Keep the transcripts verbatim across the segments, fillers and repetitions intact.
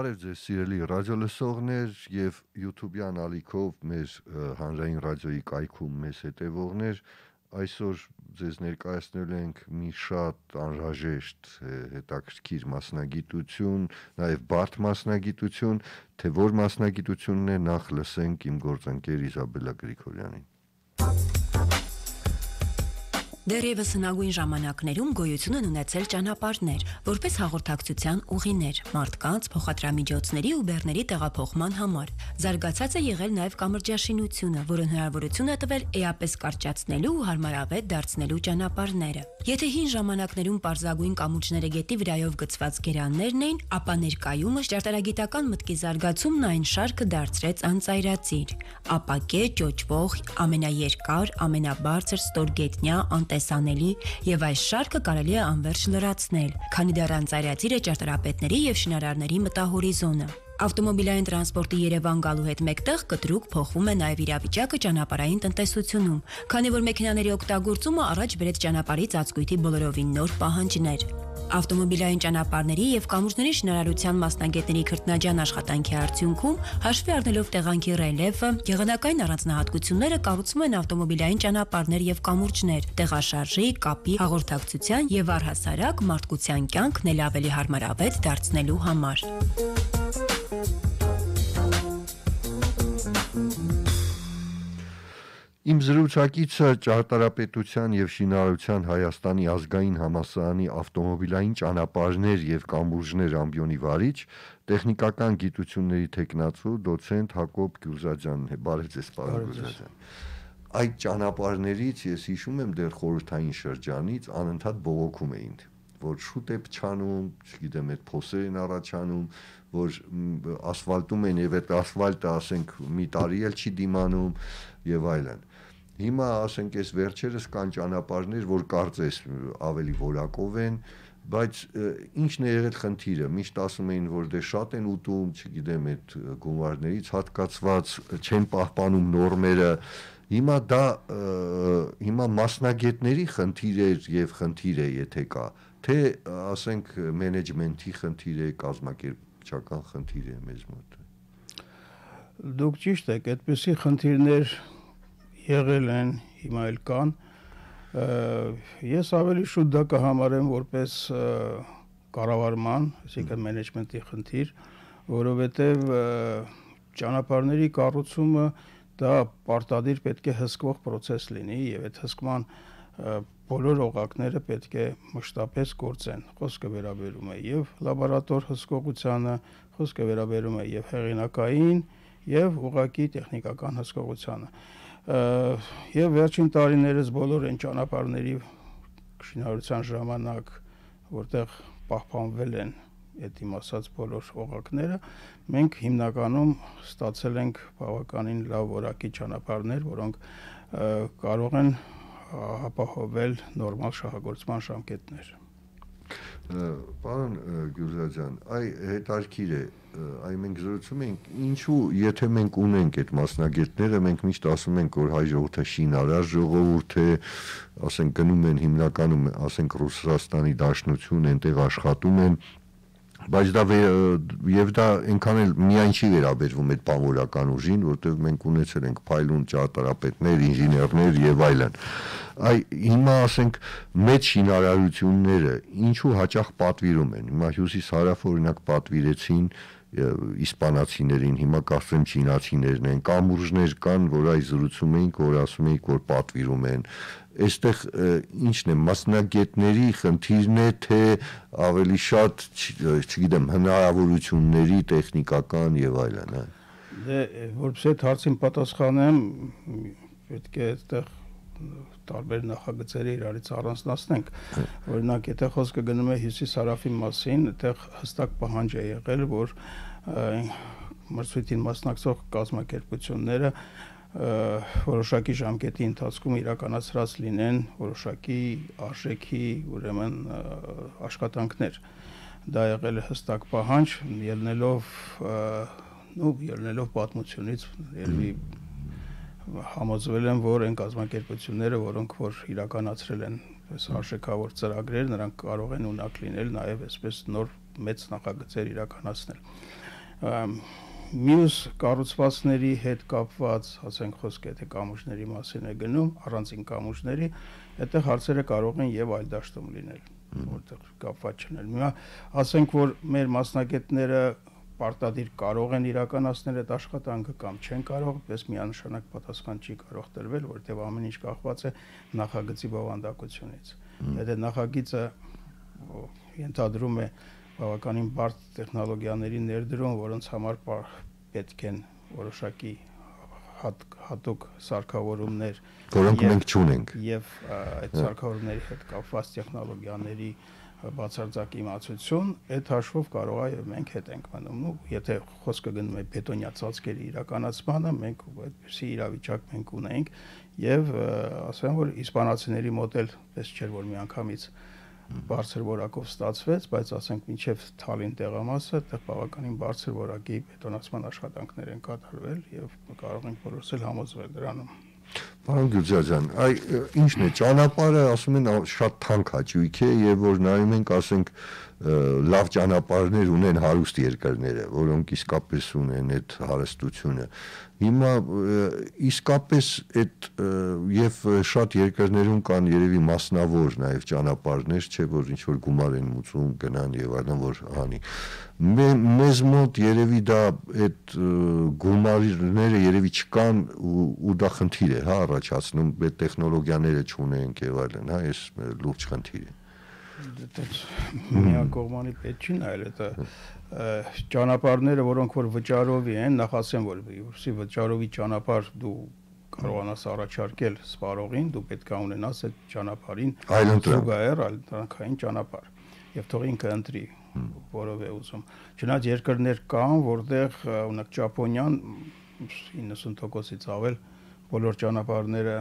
Բարև ձեզ սիրելի ռադիոլսողներ եւ YouTube-յան ալիքով մեր հանրային ռադիոյի կայքում մեզ հետևողներ, այսօր ձեզ ներկայացնել ենք մի շատ անհրաժեշտ հետաքրքիր մասնագիտություն, նաեւ բարդ մասնագիտություն, թե որ մասնագիտությունն է, նախ լսենք իմ գործընկեր Իզաբելլա Գրիգորյանին։ Դեռևս հնագույն ժամանակներում գոյություն են ունեցել ճանապարհներ, որպես հաղորդակցության ուղիներ, մարդկանց, փոխադրամիջոցների ու բեռների տեղափոխման համար։ Զարգացած է եղել նաև կամրջաշինությունը, որը հնարավորություն է տվել էապես կարճացնելու ու հարմարավետ դարձնելու ճանապարհները։ Եթե հին ժամանակներում պարզագույն կամուրջները գետի վրայով գծված գերաններն էին, ապա ներկայումս ճարտարագիտական մտքի զարգացումն այն շարքը դարձրեց անծայրածիր։ Ապակե, ճոճվող, ամենաերկար, ամենաբարձր, ստորգետնյա, անտեսանելի եւ այս շարքը կարելի է անվերջ լրացնել, քանի դեռ անծայրածիր է ճարտարապետների եւ շինարարների մտահորիզոնը։ Ավտոմոբիլային տրանսպորտի Երևան գալու հետ մեկտեղ կտրուկ փոխվում է նաև իրավիճակը ճանապարհային տնտեսությունում, քանի որ մեքենաների օգտագործումը առաջ բերեց ճանապարհի ծածկույթի բոլորովին նոր պահանջներ։ Ավտոմոբիլային ճանապարհների եւ կամուրջների շինարարության մասնագետների քրտնաջան աշխատանքի արդյունքում, հաշվի առնելով տեղանքի ռելիեֆը, եղանակային առանձնահատկությունները կառուցվում են ավտոմոբիլային ճանապարհներ եւ կամուրջներ, տեղաշարժի, կապի, հաղորդակցության եւ առհասարակ մարդկության կյանքն էլ ավելի հարմարավետ դարձնելու համար։ Իմ զրուցակիցը ճարտարապետության եւ շինարարության Հայաստանի ազգային համալսարանի ավտոմոբիլային ճանապարհներ եւ կամուրջներ ամբիոնի վարիչ, տեխնիկական գիտությունների թեկնածու դոցենտ Հակոբ Գյուզաջյանն է։ Բարև ձեզ, պարոն Գյուզաջյան։ Այդ ճանապարհներից ես հիշում եմ դեռ խորհրդային շրջանից անընդհատ բողոքում էին, որ շուտ է փչանում, չգիտեմ, այդ փոսեր են առաջանում, որ ասֆալտում են եւ այդ ասֆալտը, ասենք, մի տարի էլ չի դիմանում եւ այլն։ Հիմա ասենք այս վերջերս կան ճանապարհներ, որ կարծես ավելի որակով են, բայց ինչն է եղել խնդիրը։ Միշտ ասում էին, որ դե շատ են ուտում, չգիտեմ, այդ գումարներից հատկացված չեն պահպանում նորմերը։ Հիմա դա հիմա մասնագետների խնդիր է եւ խնդիր է, եթե կա, թե ասենք մենեջմենթի խնդիր է, կազմակերպչական խնդիր է մեզ մոտ։ Դուք ճիշտ եք, այդպիսի խնդիրներ եղել են, հիմա էլ կան։ Ես ավելի շուտ դա կհամարեմ որպես կառավարման, այսինքն մենեջմենթի խնդիր, որովհետև ճանապարհների կառուցումը դա պարտադիր պետք է հսկվող process լինի եւ այդ հսկման բոլոր օղակները պետք է մշտապես գործեն։ Խոսքը վերաբերում է եւ լաբորատոր հսկողությանը, խոսքը վերաբերում է եւ հեղինակային եւ ուղղակի տեխնիկական հսկողությանը։ Եվ վերջին տարիներս բոլոր այն ճանապարհների շինարարության ժամանակ, որտեղ պահպանվել են այդ իմ ասած բոլոր օղակները, մենք հիմնականում ստացել ենք բավականին լավ որակի ճանապարհներ, որոնք կարող են ապահովել նորմալ շահագործման ժամկետներ։ Պարոն Գյուզաջյան, այ հետարքիր է, այ մենք զրուցում ենք, ինչու, եթե մենք ունենք այդ մասնագետները, մենք միշտ ասում ենք, որ հայ ժողովուրդը շինարար ժողովուրդ է, ասենք գնում են հիմնականում, ասենք Ռուսաստանի Դաշնություն, այնտեղ աշխատում են, բայց դա եւ դա այնքան էլ միայն չի վերաբերվում այդ բանվորական ուժին, որտեղ մենք ունեցել ենք փայլուն ճարտարապետներ, ինժեներներ եւ այլն։ Այ հիմա ասենք մեծ շինարարությունները ինչու հաճախ պատվիրում են։ Հիմա հյուսիս-հարավ օրինակ պատվիրեցին իսպանացիներին, հիմա կարծեմ չինացիներն են, կամուրջներ կան, որ այ զրուցում էինք, որ ասում էինք, որ պատվիրում են։ Այստեղ ինչն է, մասնագետների խնդիրն է, թե ավելի շատ, չգիտեմ, հնարավորությունների տեխնիկական եւ այլն, հա։ Դե որպես այդ հարցին պատասխանեմ, պետք է այդտեղ տարբեր նախագծերի իրարից առանձնացնենք։ Օրինակ, եթե խոսքը գնում է հյուսիս-հարավի մասին, այդտեղ հստակ պահանջ է եղել, որ մրցույթին մասնակցող կազմակերպությունները որոշակի ժամկետի ընթացքում իրականացրած լինեն որոշակի արժեքի, ուրեմն աշխատանքներ։ Դա եղել է հստակ պահանջ, ելնելով, նո, ելնելով պատմությունից, ելնի համոզվել են, որ այն կազմակերպությունները, որոնք որ իրականացրել են այս արժեքավոր ծրագրեր, նրանք կարող են ունակ լինել նաև այսպես նոր մեծ նախագծեր իրականացնել։ Մյուս կառուցվածքների հետ կապված, ասենք խոսքը թե կամուրջների մասին է գնում, առանցին կամուրջների, այդտեղ հարցերը կարող են եւ այլ դաշտում լինել, որտեղ կապված չլինեն։ Հիմա ասենք որ մեր մասնագետները պարտադիր կարող են իրականացնել այդ աշխատանքը կամ չեն կարող, պես միանշանակ պատասխան չի կարող տրվել, որտեղ ամեն ինչ կախված է նախագծի բովանդակությունից։ Եթե նախագիծը ենթադրում է բավականին բարդ տեխնոլոգիաների ներդրում, որոնց համար պետք են որոշակի հատուկ սարքավորումներ, որոնք մենք չունենք, եւ այդ սարքավորումների հետ կապված տեխնոլոգիաների բացարձակ իմացություն, այդ հաշվով կարող է մենք հետ ենք մնում, ու եթե խոսքը գնում է բետոնյա ծածկերի իրականացմանը, մենք այդպիսի իրավիճակ մենք ունենք, եւ ասեմ որ իսպանացիների մոտ էլ պես չէր որ միանգամից բարձր որակով ստացվեց, բայց ասենք մինչև Թալին տեղամասը, այդտեղ բավականին բարձր որակի բետոնացման աշխատանքներ են կատարվել եւ կարող ենք որոշել համոզվել դրանում։ Պարոն Գյուրջաջյան, այ ինչն է, ճանապարհը ասում են շատ թանկ հաճույք է եւ որ նայում ենք, ասենք լավ ճանապարհներ ունեն հարուստ երկրները, որոնք իսկապես ունեն այդ հարստությունը։ Հիմա իսկապես այդ եւ շատ երկրներում կան երևի մասնավոր նաեւ ճանապարհներ, չէ՞ որ ինչ որ գումար են մուծում, գնան եւ այլն որ հանի։ Մեզ մոտ երևի դա այդ գումարները երևի չկան ու դա խնդիր է, հա, առաջացնում, այդ տեխնոլոգիաները չունենք եւ այլն, հա, այս լուրջ խնդիր է։ Միակողմանի պետք չի նայել, դա ճանապարհները, որոնք որ վճարովի են, նախ ասեմ որ որսի վճարովի ճանապարհ դու կարողանաս առաջարկել սպառողին, դու պետք է ունենաս այդ ճանապարհին զուգահեռ այլընտրանքային ճանապարհ եւ թող ինքը ընտրի որով է ուզում։ Չնայած երկրներ կան, որտեղ օրինակ Ճապոնիան իննսուն տոկոսից ավել բոլոր ճանապարհները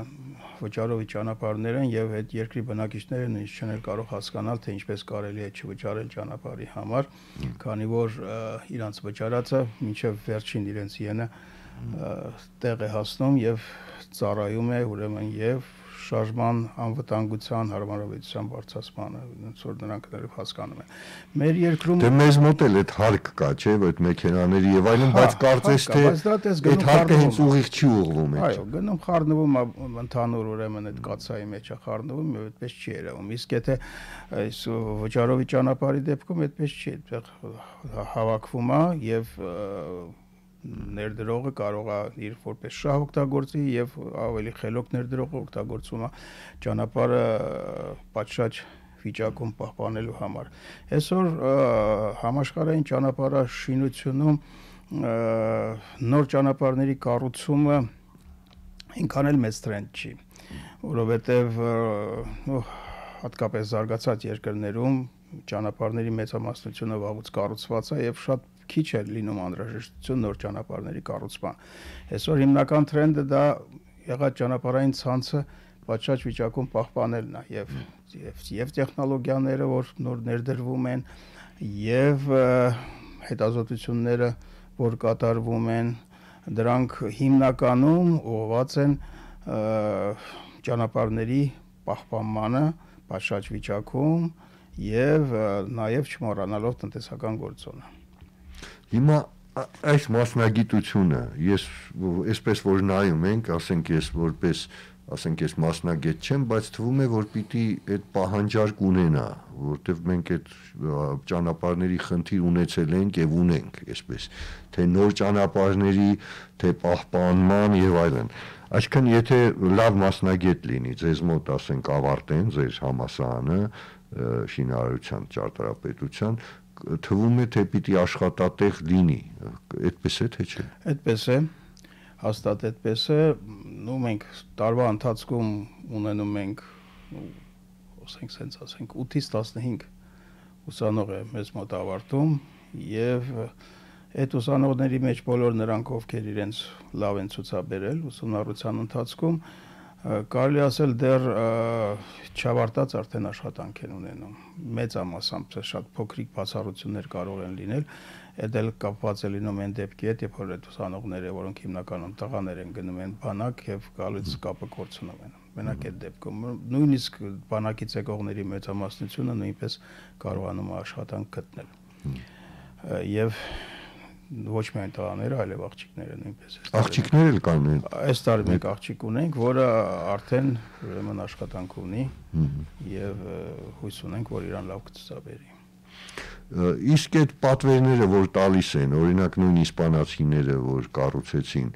վճարովի ճանապարհներ են եւ այդ երկրի բնակիչները նույնիսկ չեն կարող հասկանալ թե ինչպես կարելի է չվճարել ճանապարհի համար, քանի որ իրանց վճարածը մինչեւ վերջին իրենց յենը տեղ է հասնում եւ ծառայում է ուրեմն եւ շարժման անվտանգության հարմարավետության բարձրացմանը, ոնց որ նրանք դեռ հասկանում են։ Մեր երկրում դե մեզ մոտ էլ այդ հարկ կա, չէ՞, այդ մեքենաների եւ այլն, բայց կարծես թե այդ հարկը հենց ուղիղ չի ուղղվում այդ։ Այո, գնում խառնվում ընդհանուր ուրեմն այդ կացայի մեջ է խառնվում, եւ այդպես չի երևում։ Իսկ եթե այս վճարովի ճանապարհի դեպքում այդպես չի, այդտեղ հավաքվում է եւ ներդրողը կարող է իր որպես շահ օգտագործի եւ ավելի խելոք ներդրողը օգտագործում է ճանապարհը պատշաճ վիճակում պահպանելու համար։ Այսօր համաշխարհային ճանապարհաշինությունում նոր ճանապարհների կառուցումը ինքան էլ մեծ տրենդ չի, որովհետեւ հատկապես զարգացած երկրներում ճանապարհների մեծամասնությունը վաղուց կառուցված է եւ շատ քիչ է լինում անհրաժեշտություն նոր ճանապարհների կառուցման։ Այսօր հիմնական տրենդը դա եղած ճանապարհային ցանցը պատշաճ վիճակում պահպանելն է եւ եւ եւ տեխնոլոգիաները, որ նոր ներդրվում են եւ հետազոտությունները, որ կատարվում են, դրանք հիմնականում ուղղված են ճանապարհների պահպանմանը պատշաճ վիճակում եւ նաեւ չմոռանալով տնտեսական գործոնը։ Հիմա այս մասնագիտությունը ես այսպես որ նայում ենք, ասենք ես որպես, ասենք ես մասնագետ չեմ, բայց թվում է որ պիտի այդ պահանջարկ ունենա, որտեվ մենք այդ ճանապարհների խնդիր ունեցել ենք եւ ունենք, այսպես, թե նոր ճանապարհների, թե պահպանման եւ այլն։ Այսինքն եթե լավ մասնագետ լինի, ձեզ մոտ ասենք ավարտեն ձեր համալսարանը, շինարարության ճարտարապետության, թվում է թե պիտի աշխատատեղ լինի, այդպես է թե չէ։ Այդպես է, հաստատ այդպես է, ու մենք տարվա ընթացքում ունենում ենք, ասենք սենց ասենք ութից տասնհինգ ուսանող է մեզ մոտ ավարտում եւ այդ ուսանողների մեջ բոլոր նրանք ովքեր իրենց լավ են ցուցաբերել ուսումնառության ընթացքում կարելի ասել դեռ չավարտած արդեն աշխատանք են ունենում։ Մեծամասամբ շատ փոքրիկ բացառություններ կարող են լինել, այդ էլ կապված է լինում այն դեպքի հետ, երբ որ այդ ուսանողները, որոնք հիմնականում տղաներ են, գնում են բանակ եւ գալուց կապը կորցնում են։ Մենակ այդ դեպքում նույնիսկ բանակից եկողների մեծամասնությունը նույնպես կարողանում է աշխատանք գտնել։ Եվ ոչ միայն տղաները, այլև աղջիկները նույնպես։ Աղջիկներ էլ կան։ Այս տարի մենք աղջիկ ունենք, որը արդեն ուրեմն աշխատանք ունի եւ հույս ունենք, որ իրան լավ կցուցաբերի։ Իսկ այդ պատվերները, որ տալիս են, օրինակ նույն իսպանացիները, որ կառուցեցին,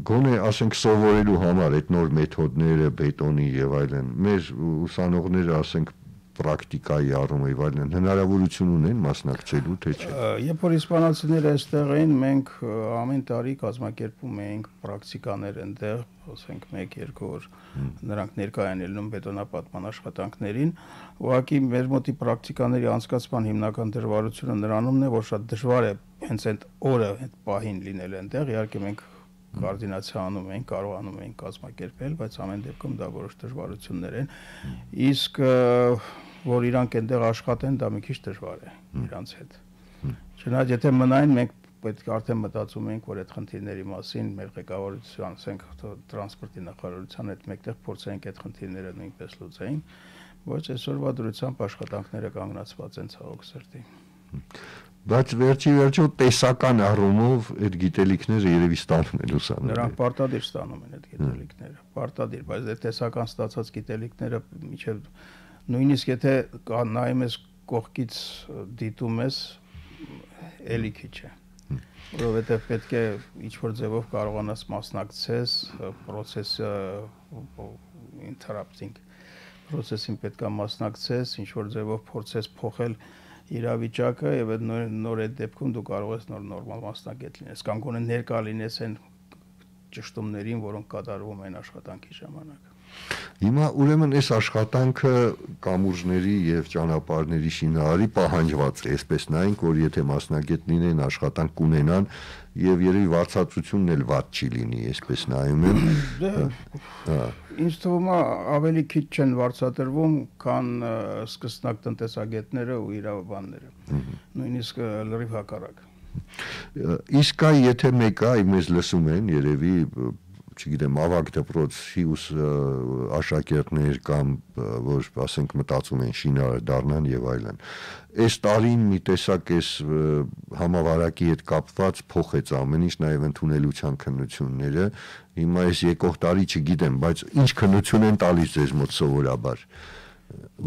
գոնե ասենք սովորելու համար այդ նոր մեթոդները, բետոնի եւ այլն, մեր ուսանողները ասենք պրակտիկայի առումով այլն հնարավորություն ունեն մասնակցելու, թե չէ։ Երբ որ իսպանացիները այստեղ էին, մենք ամեն տարի կազմակերպում էինք պրակտիկաներ այնտեղ, ասենք մեկ-երկու օր նրանք ներկայ են ելնում բետոնապատման աշխատանքներին, ուղղակի մեր մոտի պրակտիկաների անցկացման հիմնական դժվարությունը նրանումն է, որ շատ դժվար է հենց այդ օրը այդ պահին լինել այնտեղ, իհարկե մենք կոորդինացիա անում ենք, կարողանում ենք կազմակերպել, բայց ամեն դեպքում դա որոշ դժվարություններ են։ Իսկ որ իրանք այնտեղ աշխատեն, դա մի քիչ դժվար է իրանց հետ։ Չնայած եթե մնային, մենք պետք է արդեն մտածում ենք, որ այդ խնդիրների մասին մեր ղեկավարության, ասենք տրանսպորտի նախարարության հետ մեկտեղ փորձենք այդ խնդիրները նույնպես լուծեին, ոչ այսօրվա դրությամբ աշխատանքները կանգնացված են ցավոք սրտի։ Բայց վերջի վերջո տեսական առումով այդ գիտելիքները երևի ստանում են ուսանողները։ Նրանք պարտադիր ստանում են այդ գիտելիքները, պարտադիր, բայց այդ տեսական ստացած գիտելիքները միջև նույնիսկ եթե նայում ես կողքից դիտում ես, էլի քիչ է, որովհետև պետք է ինչ-որ ձևով կարողանաս մասնակցես process-ը interrupting process-ին պետք է մասնակցես, ինչ-որ ձևով փորձես փոխել իրավիճակը եւ այդ նոր, նոր այդ դեպքում դու կարող ես նոր նորմալ մասնագետ լինես կամ գոնե ներկա լինես այն ճշտումներին, որոնք կատարվում են աշխատանքի ժամանակ։ Հիմա ուրեմն այս աշխատանքը կամուրջների եւ ճանապարհների շինարարի պահանջված է, այսպես նայենք, որ եթե մասնագետ լինեն, աշխատանք կունենան եւ երևի վարձատրությունն էլ վատ չի լինի, այսպես նայում եմ։ Ինձ թվում է ավելի քիչ չեն վարձատրվում, քան սկսնակ տնտեսագետները ու իրավաբանները։ Նույնիսկ լրիվ հակառակ։ Իսկ այ եթե մեկը այ մեզ լսում են, երևի չգիտեմ, ավագ դպրոցի ուս աշակերտներ կամ որ ասենք մտածում են շինարար դառնան եւ այլն։ Այս տարին մի տեսակ էս համավարակի հետ կապված փոխեց ամեն ինչ, նաեւ ընդունելության քննությունները։ Հիմա այս եկող տարի չգիտեմ, բայց ինչ քննություն են տալիս ձեզ մոտ սովորաբար,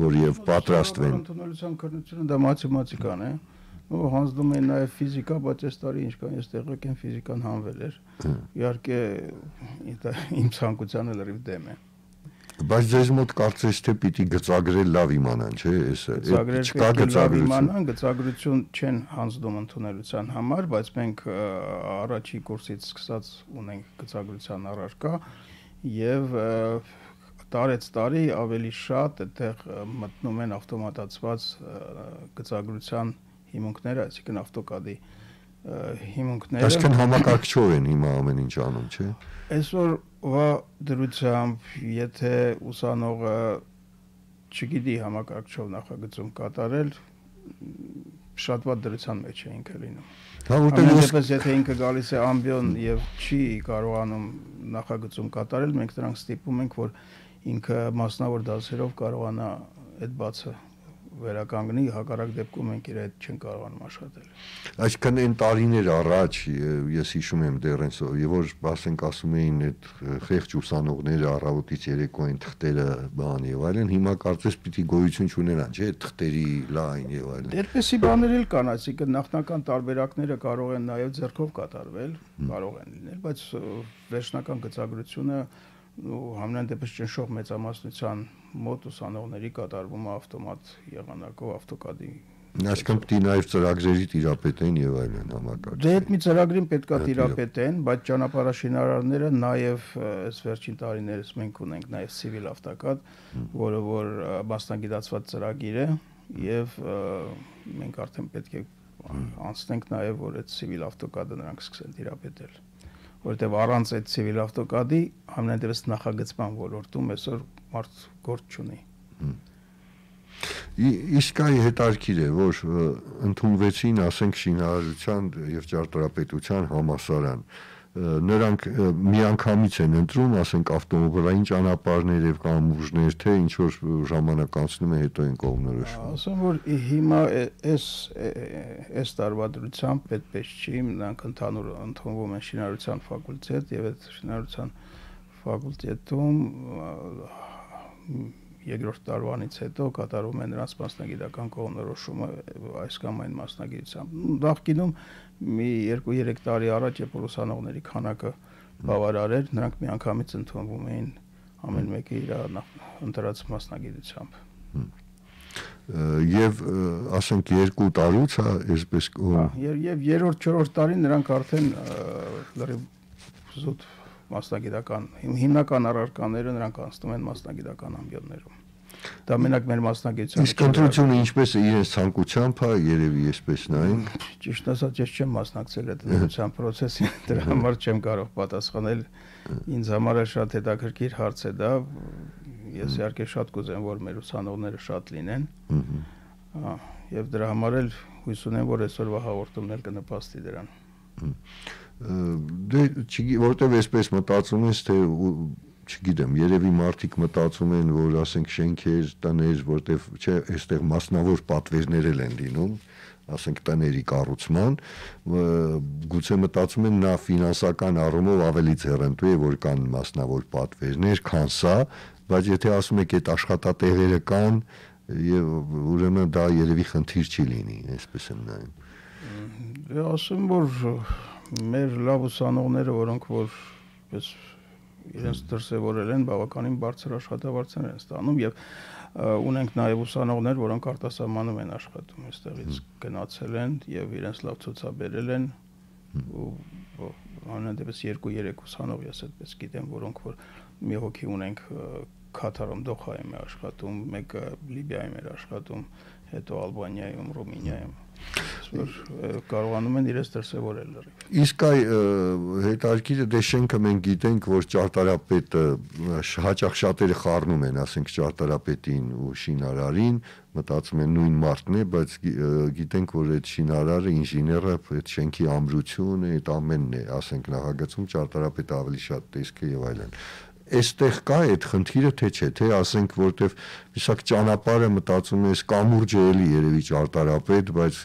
որ եւ պատրաստվեն։ Ընդունելության քննությունը դա մաթեմատիկան է։ Ու հանձնում են նաև ֆիզիկա, բայց այս տարի ինչքան ես տեղյակ եմ, ֆիզիկան հանվել էր։ Իհարկե իմ ցանկությանը լրիվ դեմ է։ Բայց ձեզ մոտ կարծես թե պիտի գծագրել լավ իմանան, չէ՞, էսը։ Չկա գծագրություն, գծագրություն չեն հանձնում ընդունելության համար, բայց մենք առաջի կուրսից սկսած ունենք գծագրության առարկա եւ տարեց տարի ավելի շատ այդտեղ մտնում են ավտոմատացված գծագրության հիմունքները, այսինքն ավտոկադի հիմունքները։ Այսինքն համակարգչով են հիմա ամեն ինչ անում, չէ՞։ Այսօրվա դրությամբ, եթե ուսանողը չգիտի համակարգչով նախագծում կատարել, շատ վատ դրության մեջ է ինքը լինում։ Հա, որտեղ ես եթե ինքը գալիս է ամբիոն եւ չի կարողանում նախագծում կատարել, մենք նրանք ստիպում ենք, որ ինքը մասնավոր դասերով կարողանա այդ բացը վերականգնի, հակառակ դեպքում մենք իր հետ չեն կարողանում աշխատել։ Այսինքն այն տարիներ առաջ ես հիշում եմ դեռ այնս, եւ որ ասենք ասում էին այդ խեղճ ուսանողները առավոտից երեկոյին թղթերը բան եւ այլն, հիմա կարծես պիտի գոյություն չունենան, չէ՞, թղթերի լայն եւ այլն։ Այդպեսի բաներ էլ կան, այսինքն նախնական տարբերակները կարող են նաեւ ձեռքով կատարվել, կարող են լինել, բայց վերջնական գծագրությունը ու համենայն դեպս ճնշող մեծամասնության մոտ ուսանողների կատարվում է ավտոմատ եղանակով ավտոկադի։ Այսինքն պիտի նաև ծրագրերի տիրապետեն եւ այլն համակարգ։ Դե այդ մի ծրագրին պետքա տիրապետեն, բայց ճանապարհաշինարարները նաև այս վերջին տարիներս մենք ունենք նաև civil ավտոկադ, որը որ մասնագիտացված ծրագիր է եւ մենք արդեն պետք է անցնենք նաև որ այդ civil ավտոկադը նրանք սկսեն տիրապետել, որովհետեւ առանց այդ civil ավտոկադի ամենայն դեպս նախագծման ոլորտում այսօր մարդ գործ չունի։ Իսկ այ հետարքիր է, որ ընդունվեցին, ասենք, շինարարության եւ ճարտարապետության համալսարան, նրանք միանգամից են ընտրում, ասենք ավտոմոբիլային ճանապարհներ եւ կամուրջներ, թե ինչ որ ժամանակ անցնում է հետո են կողմնորոշվում։ Ասեմ որ հիմա այս այս տարբերությամբ պետք չի, նրանք ընդհանուր ընդունվում են շինարարության ֆակուլտետ եւ այդ շինարարության ֆակուլտետում երկրորդ տարվանից հետո կատարում են նրանց մասնագիտական կողմնորոշումը այս կամ այն մասնագիտությամբ։ Նախկինում մի երկու երեք տարի առաջ երբ ուսանողների քանակը բավարար էր, նրանք միանգամից ընդունվում էին ամեն մեկը իր ընտրած մասնագիտությամբ։ Եվ ասենք երկու տարուց, հա, այսպես եւ երրորդ չորրորդ տարին նրանք արդեն լրիվ զուտ մասնագիտական հիմնական առարկաները նրանք անցնում են մասնագիտական ամբիոններում։ Դա մենակ մեր մասնագիտության։ Իսկ ընտրությունը ինչպես է իրենց ցանկությամբ, հա, երևի այսպես նայեն։ Ճիշտ ասած, ես չեմ մասնակցել այդ ընտրության process-ին, դրա համար չեմ կարող պատասխանել։ Ինձ համար շատ հետաքրքիր հարց է դա։ Ես իհարկե շատ կուզեմ, որ մեր ուսանողները շատ լինեն։ Եվ դրա համար էլ հույս ունեմ, որ այսօրվա հաղորդումն էլ կնպաստի դրան։ Դե որտեվ այսպես մտածում ես, թե չգիտեմ, երևի մարդիկ մտածում են, որ ասենք շենքեր, տներ, որտեվ չէ, այստեղ մասնավոր պատվերներ են լինում, ասենք տների կառուցման, գուցե մտածում են նա ֆինանսական առումով ավելի ձեռնտու է, որ կան մասնավոր պատվերներ, քան սա, բայց եթե ասում եք այդ աշխատատեղերը կան, եւ ուրեմն դա երևի խնդիր չի լինի, այսպես եմ նայում։ Դե ասեմ, որ մեր լավ ուսանողները, որոնք որ պես իրենց դրսևորել են, բավականին բարձր աշխատավարձեր են ստանում եւ ունենք նաեւ ուսանողներ, որոնք արտասահմանում են աշխատում, այստեղից գնացել են եւ իրենց լավ ցուցաբերել են ու անհանդեպս երկու երեք ուսանող ես այդպես գիտեմ, որոնք որ մի հոգի ունենք Քաթարում, Դոխայում է աշխատում, մեկը Լիբիայում է աշխատում, հետո Ալբանիայում, Ռումինիայում, որ կարողանում են իրենց դրսևորել լրիվ։ Իսկ այ հետաքրքիրը դե շենքը մենք գիտենք, որ ճարտարապետը հաճախ շատերը խառնում են, ասենք ճարտարապետին ու շինարարին, մտածում են նույն մարդն է, բայց գիտենք, որ այդ շինարարը, ինժեները, այդ շենքի ամրությունը, այդ ամենն է, ասենք նախագծում ճարտարապետը ավելի շատ տեսք է եւ այլն։ Այստեղ կա այդ խնդիրը, թե չէ, թե ասենք, որտեվ իսակ ճանապարհը մտածում ես կամուրջը էլի երևի ճարտարապետ, բայց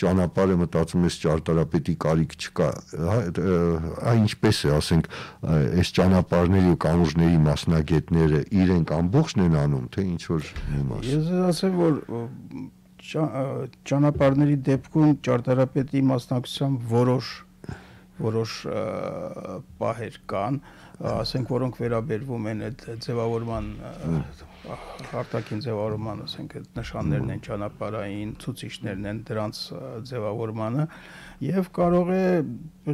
ճանապարհը մտածում ես ճարտարապետի կարիք չկա, այ ինչպես է, ասենք, այս ճանապարհների ու կամուրջների մասնագետները իրենք ամբողջն են անում, թե ինչ որ մի մաս։ Ես ասեմ, որ ճանապարհների դեպքում ճարտարապետի մասնակցությամբ որոշ որոշ պահեր կան, ասենք, որոնք վերաբերվում են այդ ձևավորման արտաքին ձևավորման, ասենք, այդ նշաններն են ճանապարհային, ցուցիչներն են դրանց ձևավորմանը եւ կարող է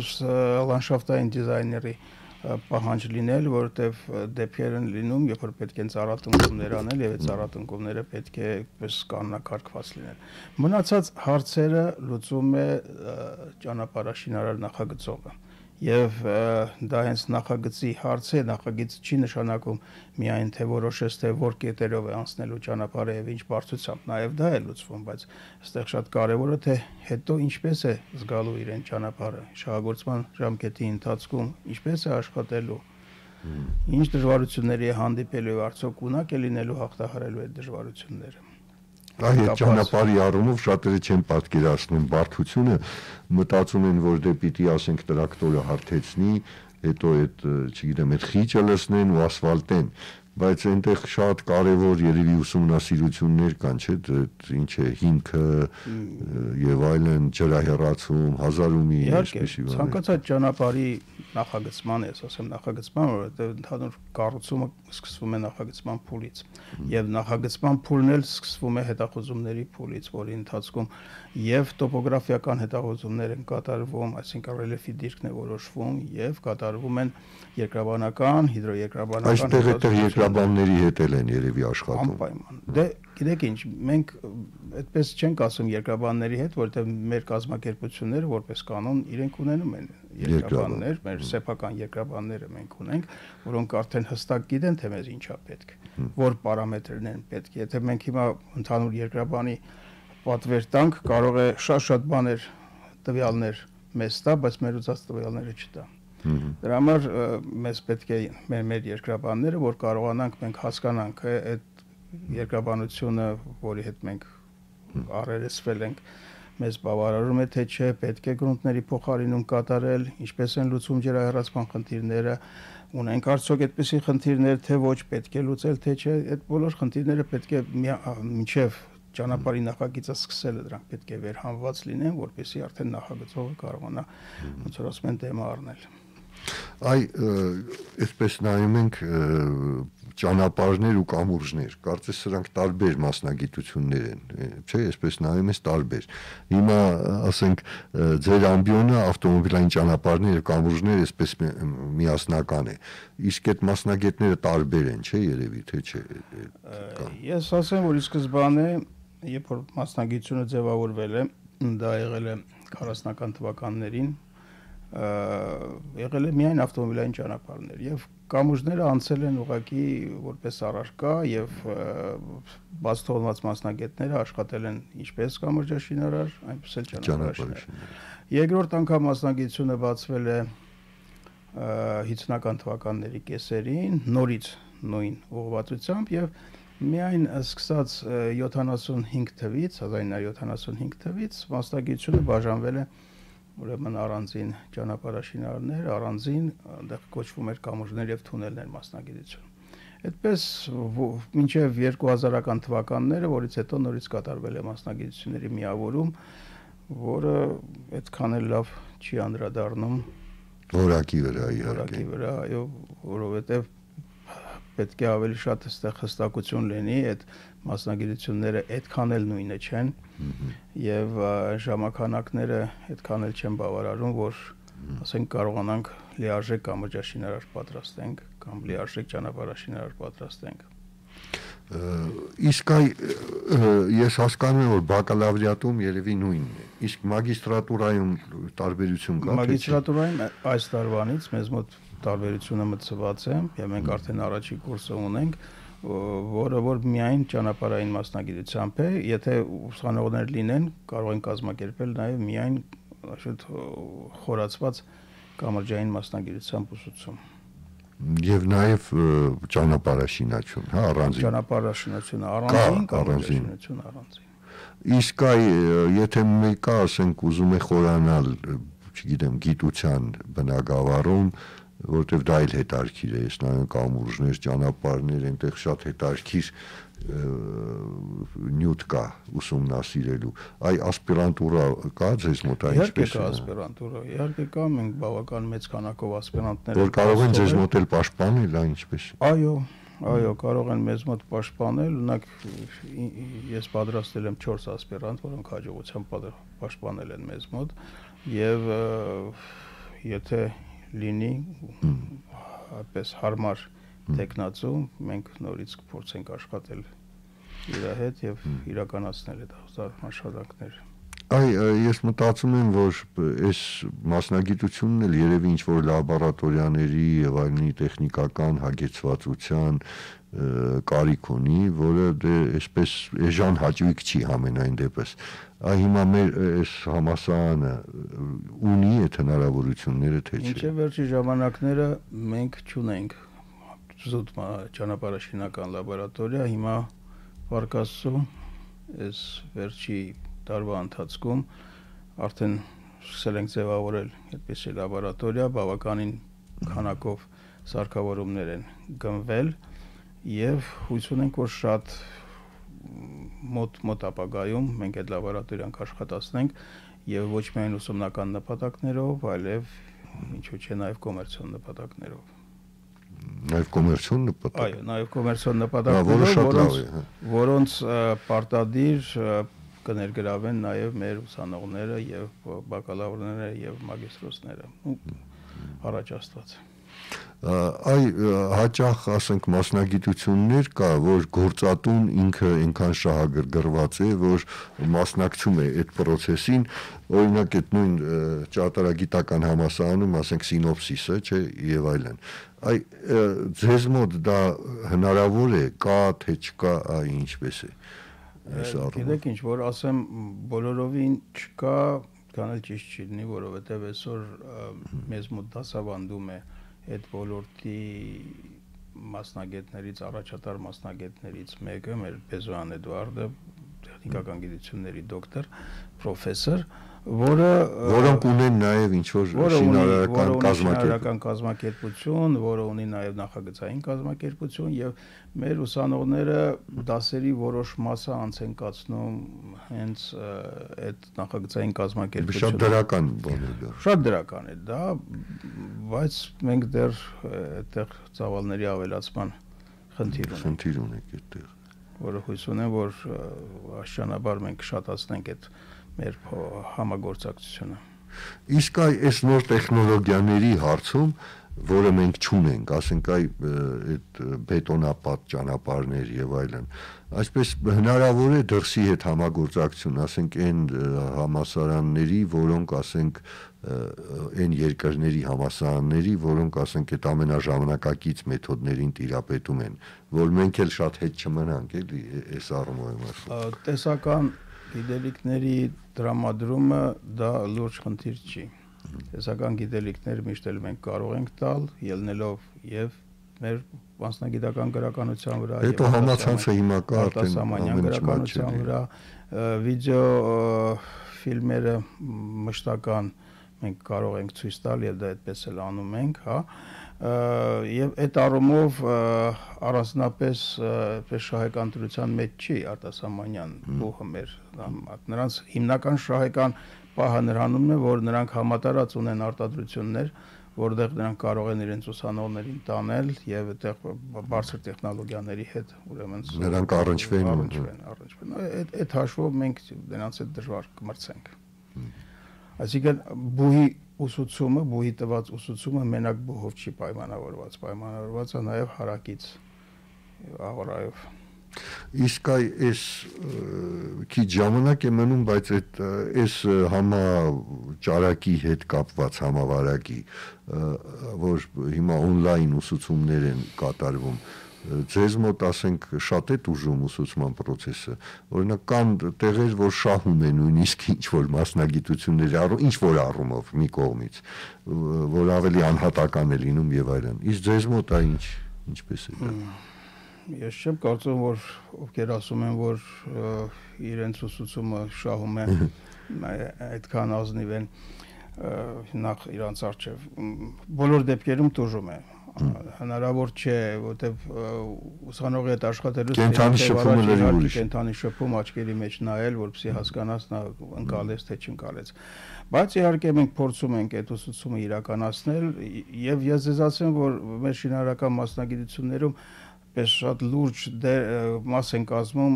լանդշաֆտային դիզայների պահանջ լինել, որովհետև դեպքեր են լինում, երբ որ պետք է ծառատնկումներ անել եւ այդ ծառատնկումները պետք է պես կանոնակարգված լինեն։ Մնացած հարցերը լուծում է ճանապարհաշինարար նախագծողը։ Եվ դա հենց նախագծի հարց է, նախագիծ չի նշանակում միայն թե որոշես թե որ կետերով է անցնելու ճանապարհը եւ ինչ բարձրությամբ, նաեւ դա է լուծվում, բայց այստեղ շատ կարեւոր է թե հետո ինչպես է զգալու իրեն ճանապարհը, շահագործման ժամկետի ընթացքում ինչպես է աշխատելու, ինչ դժվարությունների է հանդիպելու, արդյոք ունակ է լինելու հաղթահարելու այդ դժվարությունները։ Այ այդ ճանապարհի առումով շատերը չեն պատկերացնում բարդությունը, մտածում են, որ դե պիտի ասենք տրակտորը հարթեցնի, հետո այդ, չգիտեմ, այդ խիճը լցնեն ու ասֆալտեն, բայց այնտեղ շատ կարևոր երևի ուսումնասիրություններ կան, չէ՞, ինչ է հիմքը եւ այլն, ջրահեռացում, հազար ու մի այսպիսի բաներ։ Ցանկացած ճանապարհի նախագծման, ես ասեմ նախագծման, որովհետեւ ընդհանուր կառուցումը սկսվում է նախագծման փուլից եւ նախագծման փուլն էլ սկսվում է հետախուզումների փուլից, որի ընթացքում եւ տոպոգրաֆիական հետախուզումներ են կատարվում, այսինքն ռելիեֆի դիրքն է որոշվում եւ կատարվում են երկրաբանական, հիդրոերկրաբանական այստեղ այդտեղ երկրաբանների հետ էլ են երևի աշխատում։ Անպայման։ Դե գիտեք ինչ, մենք այդպես չենք ասում երկրաբանների հետ, որովհետեւ մեր կազմակերպությունները որպես կանոն իրենք ունենում են երկրաբաններ, մեր սեփական երկրաբանները մենք ունենք, որոնք արդեն հստակ գիտեն թե մեզ ինչա պետք, որ պարամետրերն են պետք։ Եթե մենք հիմա ընդհանուր երկրաբանի պատվեր տանք, կարող է շատ-շատ բաներ տվյալներ մեզ տա, բայց մեր ուզած տվյալները չտա։ Դրա համար մեզ պետք է մեր մեր երկրաբանները, որ կարողանանք մենք հասկանանք այդ երկրաբանությունը, որի հետ մենք առերեսվել ենք, մեզ բավարարում է թե չէ, պետք է գրունտների փոխարինում կատարել, ինչպես են լուծում ջրահեռացման խնդիրները, ունենք արդյոք այդպիսի խնդիրներ, թե ոչ, պետք է լուծել, թե չէ, այդ բոլոր խնդիրները պետք է մինչև ճանապարհի նախագիծը սկսելը դրանք պետք է վերհանված լինեն, որպեսզի արդեն նախագծողը կարողանա ոնց որ ասում են դեմը առնել։ Այ այսպես նայում ենք ճանապարհներ ու կամուրջներ, կարծես սրանք տարբեր մասնագիտություններ են, չէ՞, այսպես նայում ես տարբեր։ Հիմա ասենք ձեր ամբիոնը ավտոմոբիլային ճանապարհներ եւ կամուրջներ այսպես միասնական է։ Իսկ այդ մասնագետները տարբեր են, չէ՞ երևի, թե չէ։ Ես ասեմ, որ ի սկզբանե, երբ որ մասնագիտությունը ձևավորվել է, դա եղել է քառասունական թվականներին, եղել է միայն ավտոմոբիլային ճանապարհներ եւ կամուրջները անցել են ուղղակի որպես առարկա եւ բաց թողնված մասնագետները աշխատել են ինչպես կամրջաշինարար, այնպես էլ ճանապարհաշինարար։ Երկրորդ անգամ մասնագիտությունը բացվել է հինգսունական թվականների կեսերին, նորից նույն ուղղվածությամբ եւ միայն սկսած յոթանասունհինգ թվից, հազար ինը հարյուր յոթանասունհինգ թվից մասնագիտությունը բաժանվել է ուրեմն առանձին ճանապարհաշինարներ, առանձին այնտեղ կոչվում էր կամուրջներ եւ թունելներ մասնագիտություն։ Այդպես մինչեւ երկու հազարական թվականները, որից հետո նորից կատարվել է մասնագիտությունների միավորում, որը այդքան էլ լավ չի անդրադառնում որակի վրա, որակի վրա, այո, որովհետեւ պետք է ավելի շատ այստեղ հստակություն լինի, այդ մասնագիտությունները այդքան էլ նույնը չեն եւ ժամանականակները այդքան էլ չեն բավարարում, որ ասենք կարողանանք լիարժեք կամրջաշինարար պատրաստենք կամ լիարժեք ճանապարհաշինարար պատրաստենք։ Իսկ այ ես հասկանում եմ, որ բակալավրիատում երևի նույնն է, իսկ մագիստրատուրայում տարբերություն կա՞։ Մագիստրատուրայում այս տարվանից մեզ մոտ տարբերությունը մտցված է, եւ մենք արդեն առաջի կուրսը ունենք, որը որ միայն ճանապարհային մասնագիտությամբ է, եթե ուսանողներ լինեն, կարող են կազմակերպել նաեւ միայնաշուտ խորացված կամրջային մասնագիտությամբ ուսուցում։ Եվ նաեւ ճանապարհաշինություն, հա, առանձին։ Ճանապարհաշինությունը առանձին, կամրջաշինությունը առանձին։ Իսկ այ եթե մեկը ասենք ուզում է խորանալ, չգիտեմ, գիտության բնագավառում, որտեվ դա էլ հետարքիր է, ես նայում կամուրջներ, ճանապարհներ, այնտեղ շատ հետարքիր նյութ կա ուսումնասիրելու։ Այ ասպիրանտուրա կա ձեզ մոտ այ ինչպես է։ Իհարկե կա ասպիրանտուրա, իհարկե կա, մենք բավական մեծ քանակով ասպիրանտներ որ կարող են ձեզ մոտ էլ պաշտպանել, այ ինչպես։ Այո, այո, կարող են մեզ մոտ պաշտպանել, օրինակ ես պատրաստել եմ չորս ասպիրանտ, որոնք հաջողությամբ պաշտպանել են մեզ մոտ եւ եթե լինի այպես հարմար տեխնացու, մենք նորից կփորձենք աշխատել իր հետ եւ իրականացնել այդ աշխատանքները։ Այ ես մտածում եմ, որ այս մասնագիտությունն էլ երևի ինչ որ լաբորատորիաների եւ այլնի տեխնիկական հագեցվածության կարիք ունի, որը դե այսպես էժան հաճույք չի համենայն դեպս։ Այ հիմա մեր այս համասարանը ունի այդ հնարավորությունները թե չէ։ Մինչև վերջի ժամանակները մենք չունենք զուտ ճանապարհաշինական լաբորատորիա, հիմա Վարկասու այս վերջի տարվա ընթացքում արդեն սկսել ենք ձևավորել այդպիսի լաբորատորիա, բավականին քանակով սարքավորումներ են գնվել եւ հույս ունենք, որ շատ մոտ մոտ ապագայում մենք այդ լաբորատորիան կաշխատացնենք եւ ոչ միայն ուսումնական նպատակներով, այլև ինչու՞ չէ նաեւ կոմերցիոն նպատակներով։ Նաեւ կոմերցիոն նպատակ։ Այո, նաեւ կոմերցիոն նպատակներով, որոնց պարտադիր կներգրավեն նաեւ մեր ուսանողները եւ բակալավրները եւ մագիստրոսները։ Առաջ Աստված։ Այ հաճախ ասենք մասնագիտություններ կա, որ գործատուն ինքը այնքան շահագրգռված է, որ մասնակցում է այդ process-ին, օրինակ այդ նույն ճարտարագիտական համալսարանում, ասենք սինոպսիսը, չէ, եւ այլն։ Այ ձեզ մոտ դա հնարավոր է, կա թե չկա, այ ինչպես է։ Գիտեք ինչ, որ ասեմ բոլորովին չկա, այդքան էլ ճիշտ չի լինի, որովհետև այսօր մեզ մոտ դասավանդում է այդ ոլորտի մասնագետներից, առաջատար մասնագետներից մեկը, մեր Բեզոյան Էդուարդը, տեխնիկական գիտությունների դոկտոր, պրոֆեսոր, որը որոնք ունեն նաև ինչ-որ շինարարական կազմակերպություն, կազմակերպություն, որը ունի նաև նախագծային կազմակերպություն եւ մեր ուսանողները դասերի որոշ մասը անց են կացնում հենց այդ նախագծային կազմակերպությունը։ Շատ դրական բան է դա։ Շատ դրական է դա, բայց մենք դեռ այդտեղ ծավալների ավելացման խնդիր ունենք։ Խնդիր ունենք այդտեղ։ Որը հույս ունեմ, որ աշճանաբար մենք շատացնենք այդ մեր համագործակցությունը։ Իսկ այս նոր տեխնոլոգիաների հարցում, որը մենք չունենք, ասենք այդ բետոնապատ ճանապարհներ եւ այլն, այսպես հնարավոր է դրսի հետ համագործակցություն, ասենք այն համասարանների, որոնք ասենք այն երկրների համասարանների, որոնք ասենք այդ ամենաժամանակակից մեթոդներին տիրապետում են, որ մենք էլ շատ հետ չմնանք, էլի, այս առումով եմ ասում։ Տեսական գիտելիքների տրամադրումը դա լուրջ խնդիր չի։ Տեսական գիտելիքներ միշտ էլ մենք կարող ենք տալ, ելնելով եւ մեր մասնագիտական գրականության վրա, հետո համացանցը հիմա կա արտասահմանյան գրականության վրա, վիդեո ֆիլմերը մշտական մենք կարող ենք ցույց տալ եւ դա այդպես էլ անում ենք, հա։ Եվ այդ առումով առանձնապես շահեկան դրության մեջ չի արտասահմանյան բուհը մեր, նրանց հիմնական շահեկան պահը նրանումն է, որ նրանք համատարած ունեն արտադրություններ, որտեղ նրանք կարող են իրենց ուսանողներին տանել եւ այդտեղ բարձր տեխնոլոգիաների հետ ուրեմն նրանք առնչվեն, առնչվեն։ Այդ հաշվով մենք նրանց հետ դժվար կմրցենք։ Այսինքն բուհի ուսուցումը, բուհի տված ուսուցումը մենակ բուհով չի պայմանավորված, պայմանավորված է նաև հարակից աղորայով։ Իսկ այս քիչ ժամանակ է մնում, բայց այդ այս համաճարակի հետ կապված համավարակի, որ հիմա օնլայն ուսուցումներ են կատարվում, ձեզ մոտ ասենք շատ է ուժում ուսուցման process-ը, օրինակ կան տեղեր, որ շահում են նույնիսկ ինչ-որ մասնագիտությունների առում, ինչ-որ առումով մի կողմից, որ ավելի անհատական է լինում եւ այլն։ Իսկ ձեզ մոտ է ինչ, ինչպես է դա։ Ես չեմ կարծում, որ ովքեր ասում են, որ իրենց ուսուցումը շահում է, այդքան ազնիվ են նախ իրանց առջև։ Բոլոր դեպքերում տուժում է։ Հնարավոր չէ, որտեվ ուսանողի հետ աշխատելուց կենթանի շփումը լրի ուրիշ, կենթանի շփում աչքերի մեջ նայել, որպեսզի հասկանաս նա ընկալեց թե չընկալեց։ Բայց իհարկե մենք փորձում ենք այդ ուսուցումը իրականացնել եւ ես ձեզ ասեմ, որ մեր շինարարական մասնագիտություններում պես շատ լուրջ մաս են կազմում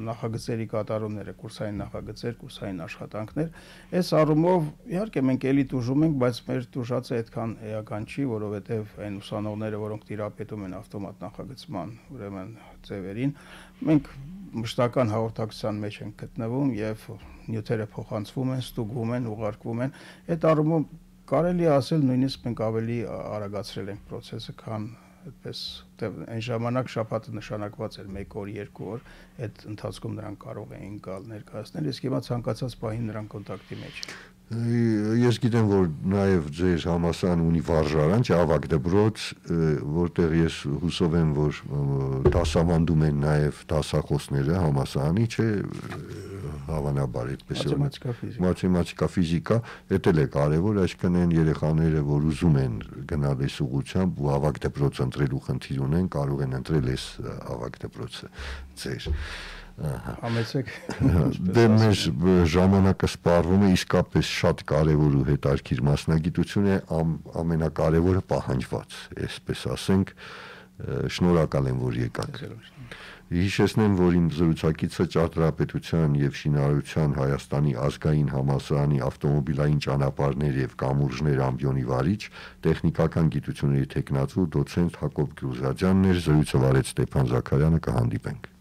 նախագծերի կատարումները, կուրսային նախագծեր, կուրսային աշխատանքներ։ Այս առումով իհարկե մենք էլի տուժում ենք, բայց մեր տուժածը այդքան էական չի, որովհետև այն ուսանողները, որոնք տիրապետում են ավտոմատ նախագծման, ուրեմն ձևերին, մենք մշտական հաղորդակցության մեջ ենք գտնվում եւ նյութերը փոխանցվում են, ստուգվում են, ուղարկվում են։ Այդ առումով կարելի է ասել նույնիսկ մենք ավելի արագացրել ենք process-ը, քան այդպես այն ժամանակ շաբաթը նշանակված էր մեկ օր, երկու օր, այդ ընթացքում նրանք կարող էին գալ ներկայացնել, իսկ հիմա ցանկացած պահին նրանք կոնտակտի մեջ են։ Ես գիտեմ, որ նաև ձեր համալսարանը ունի վարժարան, չէ, ավագ դպրոց, որտեղ ես հուսով եմ, որ դասավանդում են նաև դասախոսները համալսարանի, չէ, հավանաբար այդպես է։ Մաթեմատիկա, ֆիզիկա։ Մաթեմատիկա, ֆիզիկա, դա էլ է կարևոր, այսինքն այն երեխաները, որ ուզում են գնալ այս ուղղությամբ ու ավագ դպրոց ընտրելու խնդիր ունեն, կարող են ընտրել այս ավագ դպրոցը ձեր։ Համեցեք։ Դե մեր ժամանակը սպառվում է, իսկապես շատ կարևոր ու հետաքրքիր մասնագիտություն է, ամենակարևորը պահանջված, այսպես ասենք, շնորհակալ եմ, որ եկաք։ Հիշեցնեմ, որ իմ զրուցակիցը ճարտարապետության եւ շինարարության Հայաստանի ազգային համալսարանի ավտոմոբիլային ճանապարհներ եւ կամուրջներ ամբիոնի վարիչ, տեխնիկական գիտությունների թեկնածու դոցենտ Հակոբ Գրուզադյանն էր, զրույցը վարեց Ստեփան Զաքարյանը, կհանդիպենք։